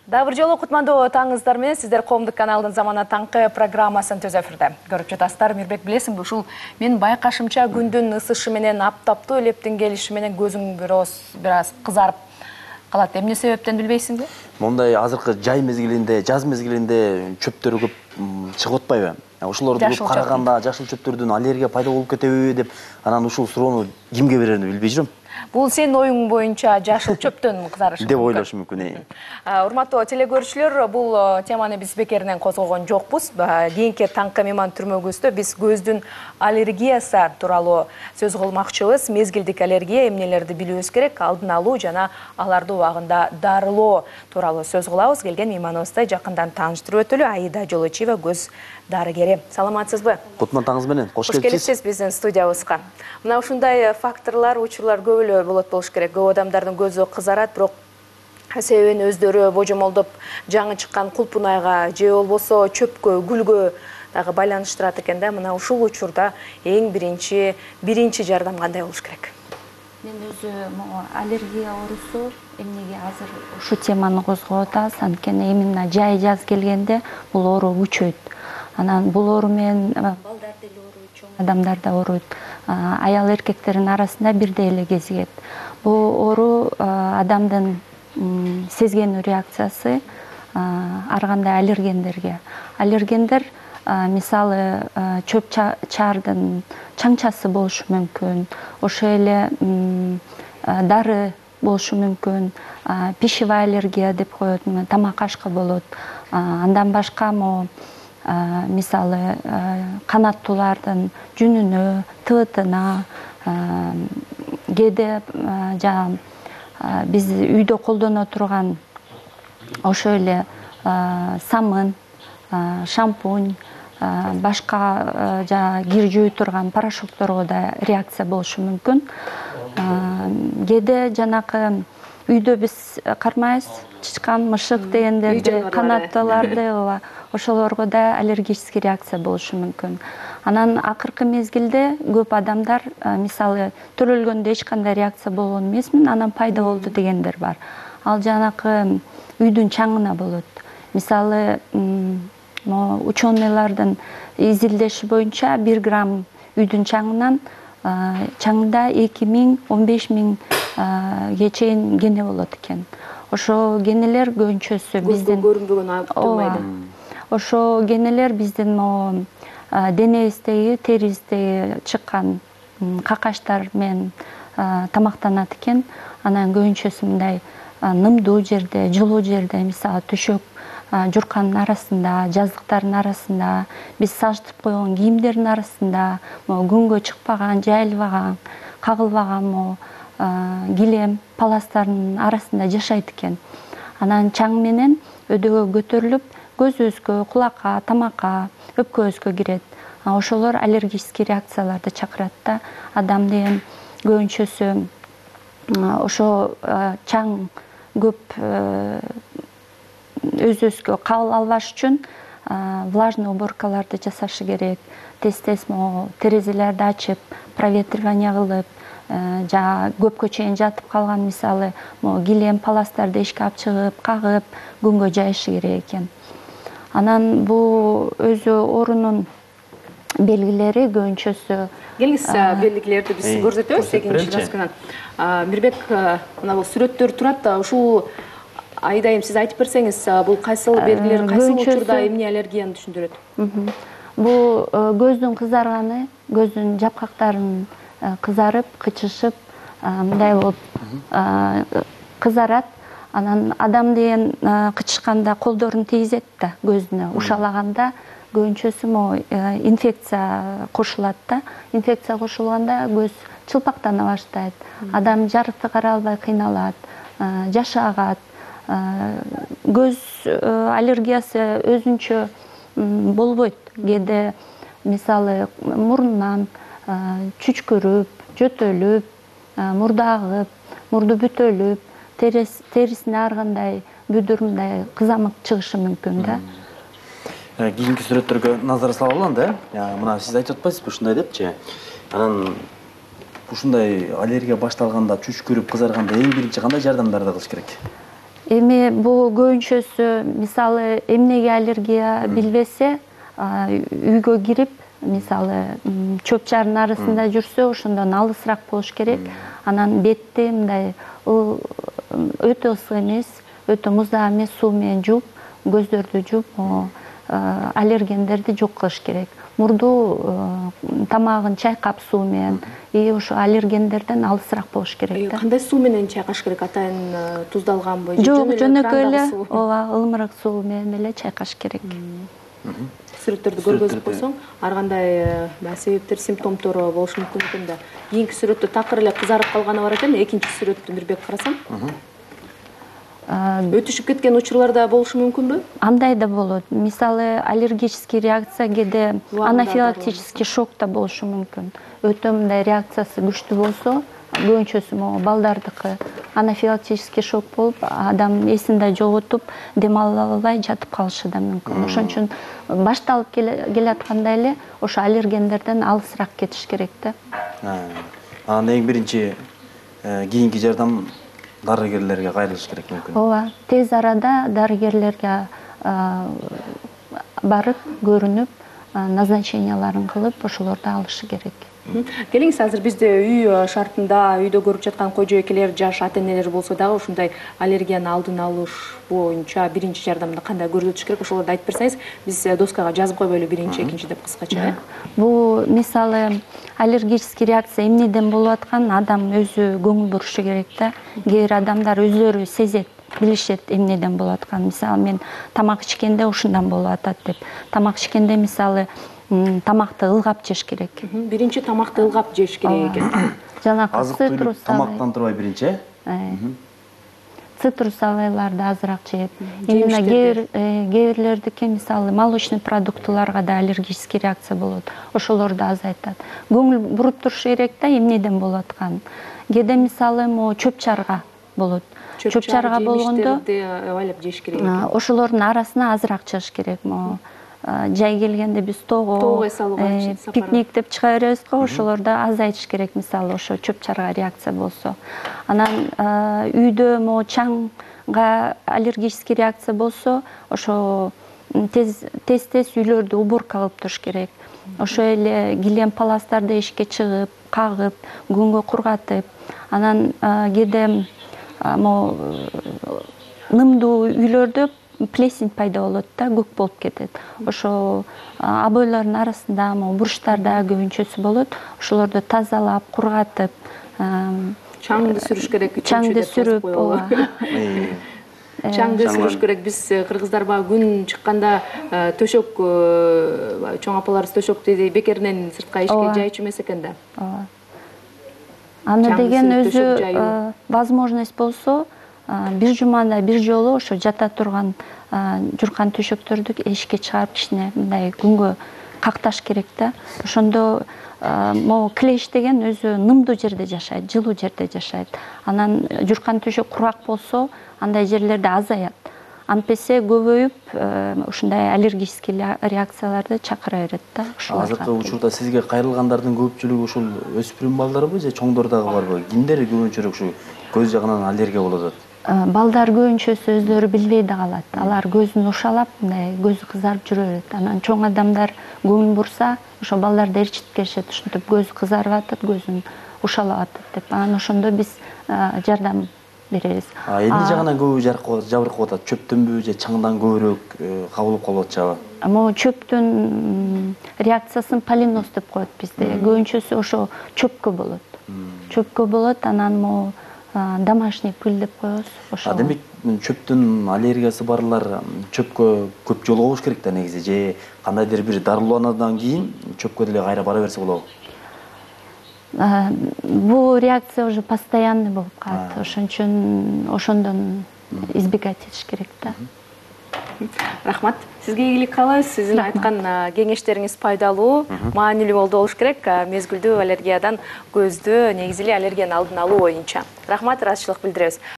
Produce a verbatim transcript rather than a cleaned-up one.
Дабыр жолу кутмандуу таңыңыздар менен сиздер Коомдук каналдын Замана таңкы программасын түз эфирде. Көрүп жатасыздар, Мирбек, билесиңби, ушул мен байкашымча күндүн ысышы менен аптаптуу элептин келиши менен көзүң бирөөз бир аз кызарып калат. Эмне себептен билбейсиңби? Мондай азыркы жай мезгилинде, жаз мезгилинде чөптөр көп чыгып атпайбы? Ошолорду көп караганда жашыл чөптөрдүн аллергия пайда болуп кетеби деп, анан ушул суроону кимге берерин билбей жүрөм. Бул сенин оюң боюнча жашыл чөптөн кызарышы деп ойлошу мүмкүн. Урматтуу телекөрүүчүлөр, бул теманы биз бекеринен козгогон жокпуз. Кийинки таңкы мейман түрмөгүбүздө биз көздүн аллергиясы тууралуу сөз кылмакчыбыз. Мезгилдик аллергия эмнелерди билүүбүз керек, алдын алуу жана аларды убагында дарылоо тууралуу сөз кылабыз. Келген мейманыбызды жакындан тааныштырып өтөлү. Аида Жолочиева, көз дарыгери. Саламатсызбы? Кутман таңыңыз менен. Кош келипсиз. Кош келипсиз биздин студиябызга. Мына ушундай факторлор, учурлар көп эле болот болуш керек. Көп адамдардын көзү кызарат, бирок себебин өздөрү божомолдоп жаңы чыккан кулпунайга же болбосо чөпкө, гүлгө дагы байланыштырат экен да. Мына ушул учурда эң биринчи биринчи жардам кандай болуш керек? Мен өзү аллергия оорусу эмнеге азыр ушу теманы козгоп атабыз, анткени именно жай жаз келгенде бул оору күчөйт. Анан бул оору менен балдар деле ооруйт, чоң адамдар да ооруйт. Аял эркектердин арасында бирдей эле кезигет. Бул оору адамдын сезген реакциясы ар кандай аллергендерге. Аллергендер мисалы чөп чаардын чаңчасы болушу мүмкүн, ошо эле дары болушу мүмкүн, пищевая аллергия деп коет, тамак ашкы болот. Андан башка мо мисалы канаттуулардын жүнүнө, тыбытына, кээде жана биз үйдө колдоно турган ошо эле самын, шампунь, башка жана кир жууй турган порошокторго да реакция болушу мүмкүн. Кээде жанакы үйдө биз кармайбыз, чычкан, мышык дегендерди, канаттууларды, ошолорго да аллергический реакция болушу мүмкүн. Анан акыркы мезгилде көп адамдар мисалы төрөлгөндө эч кандай реакция болгон эмесмин, анан пайда болду дегендер бар. Ал жанакы үйдүн чаңына болот. Мисалы ученыйлардын изилдеши боюнча бир грамм үйдүн чаңынан чаңында эки миң он беш миңге чейин гене болот экен. Ошо генелер көбүнчөсү биздин көрүнбөгөн турбайды. Ошо генелер биздин денебиздеги, терибиздеги чыккан какаштар менен тамактанат экен. Анан көбүнчөсү мындай нымдуу жерде, жылуу жерде, мисалы төшөк журканын арасында, жаздыктардын арасында, биз сажытып койгон кийимдердин арасында, күнгө чыкпаган, жайылбаган, кагылбаган килем, паластардын арасында жашайт экен. Анан чаң менен өдөгө көтөрүлүп, көзүбүзгө, кулакка, тамакка, өпкөбүзгө кирет. Ошолор аллергический реакцияларды чакырат да. Адам деген көбүнчөсү ошо чаң көп өзүбүзгө кабыл албаш үчүн влажный уборкаларды жасашы керек. Тез-тез терезелерди ачып, проветривание кылып, жана көпкө чейин жатып калган мисалы килем, паластарды эшикке алып чыгып, кагып, күнгө жайышы керек экен. Анан бул өзү оорунун белгилери көбүнчөсү. Келиңиз, белгилерди биз көрсөтөбүз экинчи. Мирбек, мына бул сүрөттөр турат, ушул айдайым сиз айтып берсеңиз, бул кайсыл белгилер, кайсыл учурда эмне аллергияны түшүндүрөт? Бул көздүн кызарганы, көздүн жапкактарын кызарып, кычышып, мындай болуп кызарат. Анан адам деген кычышканда колдорун тийгизет да көзүнө, ушалаганда көбүнчөсү инфекция кошулат да. Инфекция кошулганда көз чылпактана баштайт. Адам жарыкты карай албай кыйналат, жашы агат. Көз аллергиясы өзүнчө болбойт. Кээде мисалы мурундан чүчкүрүп, жөтөлүп, мурда агып, мурду бүтөлүп, терисине ар кандай бүдүр мындай кызамык чыгышы мүмкүн да. Кийинки сүрөттөргө назар салалы анда. Мына сиз айтып атпайсызбы ушундай депчи? Анан ушундай аллергия башталганда, чүчкүрүп, кызарганда эң биринчи кандай жардамдарды кылыш керек? Эми бул көбүнчөсү мисалы эмнеге аллергия билбесе, үйгө кирип, мисалы чөп чардын арасында жүрсө, ошондон алысыраак болуш керек. Анан бетти мындай өтө ысык эмес, өтө муздак эмес суу менен жууп, көздөрдү жууп, аллергендерди жок кылыш керек. Мурду тамагын чайкап суу менен, и ошо аллергендерден алысыраак болуш керек да. Кандай суу менен чайкаш керек? Атайын туздалганбы? Жок, жөнөкөй эле, ооба, ылымыраак суу менен эле чайкаш керек. Сүрөттөрдү көргөзүп койсоң, ар кандай себептер, симптомдору болушу мүмкүн экен да. Кийинки сүрөттө такыр эле кызарып калганы бар экен, экинчи сүрөттү Мирбек карасам. Өтүшүп кеткен учурлар да болушу мүмкүнбү? Андай да болот. Мисалы аллергический реакция, кээде анафилактический шок да болушу мүмкүн. Өтө мындай реакциясы күчтүү болсо, көбүнчөсү могу балдардыкы анафилактический шок болуп, адам эсин да жоготуп, дем ала албай жатып калышы да мүмкүн. Ошон үчүн башталып келатканда эле ошо аллергендерден алысыраак кетиш керек да. Анан эң биринчи кийинки жардам дарыгерлерге кайрылыш керек мүмкүн. Ооба, тез арада дарыгерлерге барып, көрүнүп, назначенияларын кылып, ошолорду алышы керек. Келиңиз, азыр бизде үй шартында үйдө көрүп жаткан кой-жойкелер, жаш ата-энелер болсо дагы ушундай аллергияны алдын алыш боюнча биринчи жардамды кандай көрсөтүш керек, ошолорду айтып берсеңиз, биз доскага жазып койбойлу биринчи, экинчи деп кыскача. Бул мисалы аллергический реакция эмнеден болуп атканын адам өзү көңүл бурушу керек да. Кээ бир адамдар өздөрү сезет, билишет эмнеден болуп атканын. Мисалы мен тамак ичкенде ушундан болуп атат деп. Тамак ичкенде мисалы тамакты ылгап жеш керек. Биринчи тамакты ылгап жеш керек экен. Жанагы цитрус тамактан турбай биринчи, э? Цитрус авайларды азыраак жеп. Именно кээ бирлердики мисалы молочный продуктыларга да аллергический реакция болот. Ошолорду азайтат. Көңүл буруп туруш керек да эмнеден болуп атканын. Кээде мисалы могу чөп чарга болот. Чөп чарга болгондо айлап жеш керек. Ошолордун арасына азыраак чыгыш керек. Могу жай келгенде биз тоого пикник деп чыга беребиз го, ошолорду азайтыш керек, мисалы ошо чөп чарга реакция болсо. Анан үйдө могу чаңга аллергический реакция болсо, ошо тез тез үйлөрдү уборка кылып туруш керек. Ошо эле килем паластарды эшикке чыгып, кагып, күнгө кургатып, анан кээде могу нымдуу үйлөрдө плесень пайда болот да, көк болуп кетет. Ошо обойлордун арасында, могу бурчтарда көбүнчөсү болот. Ошолорду тазалап, кургатып, чаңды сүрүш керек. Чаңды сүрүп, ооба. Чаңды сүрүш керек. Биз кыргыздар баягы күн чыкканда төшөк, чоң апаларыбыз төшөктү бекеринен сыртка эшикке жайчу эмес экен да. Ооба. Аны деген өзү возможность болсо, бир жумада бир жолу ошо жата турган журкан төшөктөрдү эшикке чыгарып кичине мындай күнгө какташ керек да. Ошондо могу клещ деген өзү нымдуу жерде жашайт, жылуу жерде жашайт. Анан журкан төшөк курак болсо, андай жерлерде азаят. Антпесе көбөйүп, ушундай аллергический реакцияларды чакыра берет да. Азыркы учурда сизге кайрылгандардын көпчүлүгү ушул өспүрүм балдарбы же чоңдор дагы барбы? Кимдер көбүнчөрөөк ушу көз жагынан аллергия болуп атат? Балдар көбүнчөсү өздөрү билбей да калат. Алар көзүн ушалап, мындай көзү кызарып жүрө берет. Анан чоң адамдар көңүл бурса, ошо балдарды ээрчитип келишет, ушинтип көзү кызарып атат, көзүн ушалап атат деп. Анан ошондо биз жардам беребиз. Эмне жагынан көбү жабыркап атат? Чөптөнбү же чаңдан көбүрөөк кабылып калып атышабы? Могу чөптүн реакциясын полиноз деп коет бизде. Көбүнчөсү ошо чөпкө болот. Чөпкө болот, анан могу домашний пыль деп коебуз. Ошо. Демек, чөптүн аллергиясы барлар чөпкө көп жолугуш керек да негизи, же кандайдыр бир дарылануудан кийин чөпкө деле кайра бара берсе болобу? Бул реакция уже постоянный болуп калат. Ошон үчүн ошондон избегать этиш керек да. Рахмат. Сизге ийгилик каалайбыз. Сиздин айткан кеңештериңиз пайдалуу, маанилүү болду болуш керек. Мезгилдүү аллергиядан көздү, негизи эле аллергияны алдын алуу боюнча. Рахмат, ыраазычылык билдиребиз.